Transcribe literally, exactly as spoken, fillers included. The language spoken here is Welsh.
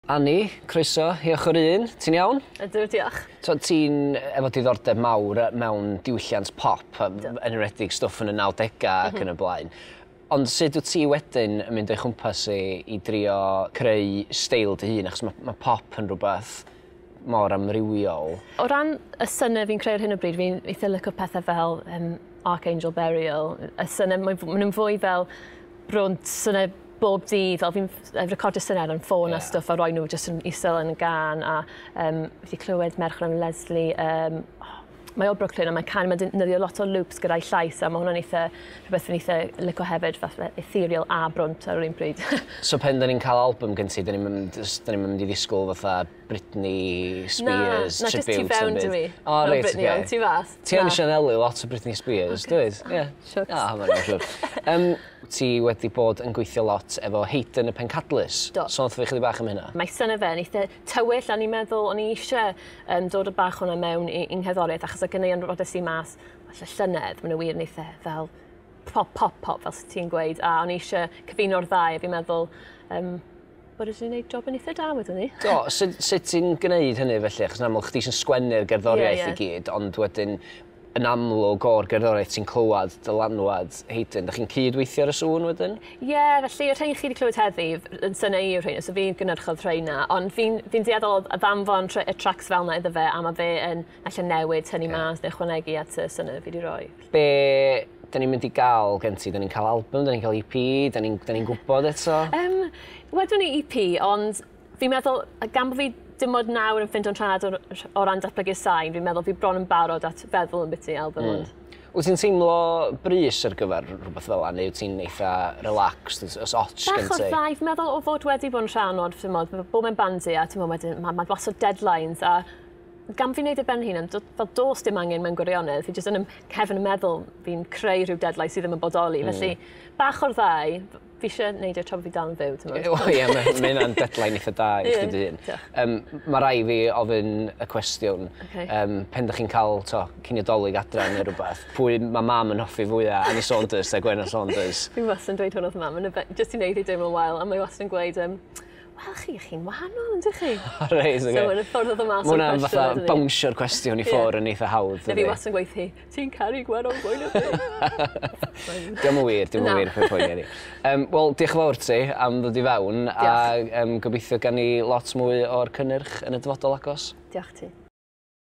Ani, croeso i Ochr Un. Ti'n iawn? Ydw, diolch. So, ti'n efo diddordeb mawr mewn diwylliant pop, yn enwedig stwff yn y nawdegau ac yn y blaen. Ond sut wyt ti wedyn yn mynd o'i chwmpas i, i drio creu steil dy hun? Achos mae, mae pop yn rhywbeth mor amrywiol. O ran y synau fi'n creu ar hyn o bryd, fi'n eitha licio pethau fel um, Archangel Burial. Y synau, maen nhw'n fwy fel brwnt, synau bob dydd, fel fi'n recordio synau ar yn ffôn yeah. a stwff a roi nhw jyst yn isel yn y gân, a um, fi wedi clywed merch o'r enw Leslie, um, oh, mae o Brooklyn a mae'n can, mae'n defnyddio lot o loops gyda'i llais a mae hwnna'n eitha, rhywbeth fi'n eitha licio hefyd, fath ethereal a brwnt ar yr un pryd. So pen da ni'n cael album gen ti, da ni'n mynd, da ni'n mynd i ddisgwyl fatha Britney Spears na, na, jyst tu fewn dwi. O, reit, Britney, oce. Ond tu fas. Ti yn sianelu lot o Britney Spears, dwyt? Ie. Shucks. Ah, mae'n siŵr. Um, ti wedi bod yn gweithio lot efo Hayden y Pencadlys. Do. Sôn wrtho fi chydig bach am hynna. Mae synau fe yn eitha tywyll, a ni'n meddwl o'n i eisiau um, dod o bach hwnna mewn i, i'n ngherddoriaeth, achos y ganeuon rodes i mas falle llynedd, maen nhw wir yn eitha fel pop, pop, pop, fel sydd ti'n gweud, a o'n i eisiau cyfuno'r ddau, a fi'n meddwl um, bod wedi gwneud job yn eitha da wedyn ni. Do, sut, sut ti'n gwneud hynny felly? Achos yn amlwg chdi sy'n sgwennu'r gerddoriaeth Ie, ie. i gyd, ond wedyn yn amlwg o'r gerddoriaeth ti'n clywed dylanwad Hayden. Da chi'n cydweithio ar y sŵn wedyn? Ie, yeah, felly y rhain chi wedi clywed heddi yn synau i yw'r rhain, so fi'n gynhyrchodd rhain na, ond fi'n fi dueddol o ddanfon y tracks fel na iddo fe, a mae fe yn allan newid, tynnu yeah. mas neu ychwanegu at y synau fi wedi rhoi. Be da ni'n mynd i gael gen ti? Da ni'n cael album, da ni'n cael E P, da ni'n ni gwybod eto? Um, wedwn ni E P, ond fi'n meddwl, gan bod fi dim ond nawr yn ffindo'n rhad o, o ran datblygu sain, fi'n meddwl fi bron yn barod at feddwl yn biti album. Mm. Ond. Wyt ti'n teimlo brys ar gyfer rhywbeth fel 'na, neu wyt ti'n eitha relaxed, os ots gen ti? Bach o'r ddau, fi'n meddwl o fod wedi bod yn rhan o'r, ti'n modd, bod mewn bandiau, a ti'n modd, wedyn, mae ma lot o deadlines, a gan fi'n neud e ben hun, fel dos dim angen mewn gwirionedd, fi jyst yn cefn yn meddwl fi'n creu rhyw deadline sydd ddim yn bodoli. Mm. Felly, bach o'r ddau, fi eisiau neud e tra bod fi dal yn fyw, ti'n meddwl? Wel ie, mae ma hynna'n deadline eitha da i chdi dy hun. Um, mae rai fi ofyn y cwestiwn, okay. um, pen dych chi'n cael to, cinio Dolig adra neu rhywbeth, pwy mae mam yn hoffi fwyaf, Annie Saunders a Gwenno Saunders? Fi wastad yn dweud hwn wrth mam, jyst i wneud i deimlo'n wael, a mae wastad yn gweud, um, wel chi, chi'n wahanol, yndych chi? Reit, oce. So, yn y ffordd oedd y mas o'r o'r cwestiwn. cwestiwn. Fatha bownsio'r cwestiwn i ffwrdd yn eitha hawdd. Na fi wastad yn gweud hi, ti'n caru Gwenno fwy na fi. Diolch yn wir, diolch yn wir, pwy poeni ni. Um, Wel, diolch yn fawr ti am ddod i fewn, a um, gobeithio gan ni lot mwy o'r cynnyrch yn y dyfodol agos. Diolch ti.